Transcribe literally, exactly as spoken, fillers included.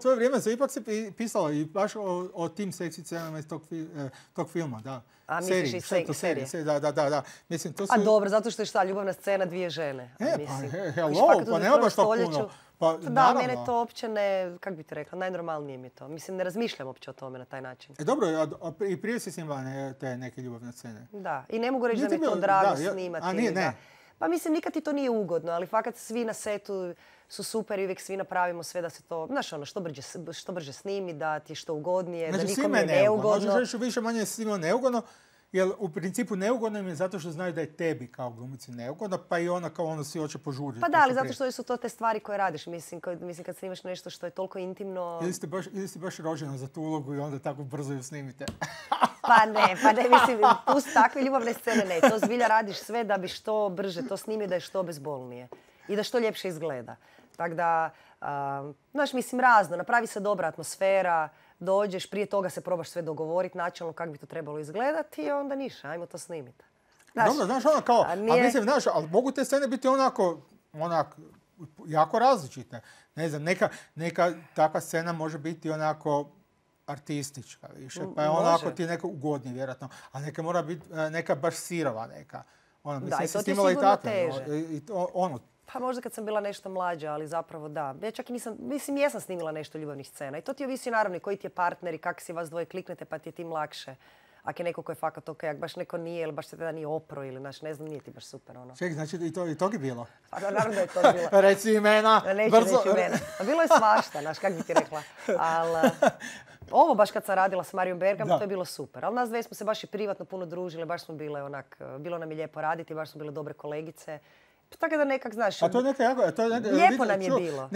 svoje vrijeme se ipak se pisalo i baš o, o tim seksi scenama iz tog, tog filma, da. A misliš i se, serije? Da, da, da, da. Mislim, to su... A dobro, zato što je šta, ljubavna scena dvije žene. E, mislim, pa he, hello, pa nema baš to puno. Pa, da, naravno. mene to uopće ne, kak bi ti rekla, najnormalnije mi je to. Mislim, ne razmišljam uopće o tome na taj način. E dobro, a, a, i prije si snimala ne, te neke ljubavne scene. Da, i ne mogu reći da mi je to drago da, snimati. A nije, ne. Da. Pa mislim, nikad ti to nije ugodno, ali fakat svi na setu su super i uvijek svi napravimo sve da se to, znaš ono, što brže, što brže snimi, da ti je što ugodnije, znači, da nikom je neugodno. Znači, što više manje je svima neugodno, jer u principu neugodno im je zato što znaju da je tebi kao glumici neugodno, pa i ona kao ono si hoće požuriti. Pa da, ali zato što su to te stvari koje radiš. Mislim, kad, mislim kad snimaš nešto što je toliko intimno... Ili ste baš, ili ste baš rođena za tu ulogu i onda tako brzo ju snimite. Pa ne, pa ne, mislim, pusti takve ljubavne scene, ne. To zbilja radiš sve da bi što brže to snimi, da je što bezbolnije. I da što ljepše izgleda. Tako da, um, znaš, mislim, razno. Napravi se dobra atmosfera, dođeš, prije toga se probaš sve dogovoriti načelno kako bi to trebalo izgledati i onda ništa, ajmo to snimiti. Znaš, dobro, znaš, ono kao, a, nije... a mislim, znaš, ali mogu te scene biti onako, onak, jako različite. Ne znam, neka, neka takva scena može biti onako artistička više, pa je onako ti neka ugodnije vjerojatno, a neka mora biti neka baš sirova neka. Ono, mislim, da, i to ti je sigurno i teže. I to, ono, pa možda kad sam bila nešto mlađa, ali zapravo da. Ja čak i nisam, mislim, jesam snimila nešto ljubavnih scena. I to ti ovisi naravno i koji ti je partner i kako si vas dvoje kliknete pa ti je tim lakše. Ako je neko ko je fakat ok, ako baš neko nije ili baš se tada nije opro ili naš, ne znam, nije ti baš super ono. Ček, znači i to, i tog je bilo? Pa naravno da je to bilo. Reci imena, neću, brzo. Neću imena. A bilo je svašta, znaš, kak bi ti rekla. Ali ovo baš kad sam radila s Marijom Bergam, da. To je bilo super. Ali nas dve smo se baš i privatno puno družile, baš smo bile onak, bilo nam je lijepo raditi, baš smo bile dobre kolegice. Tako da nekak, znaš, a to je neka jako, to je neka, lijepo nam je bilo.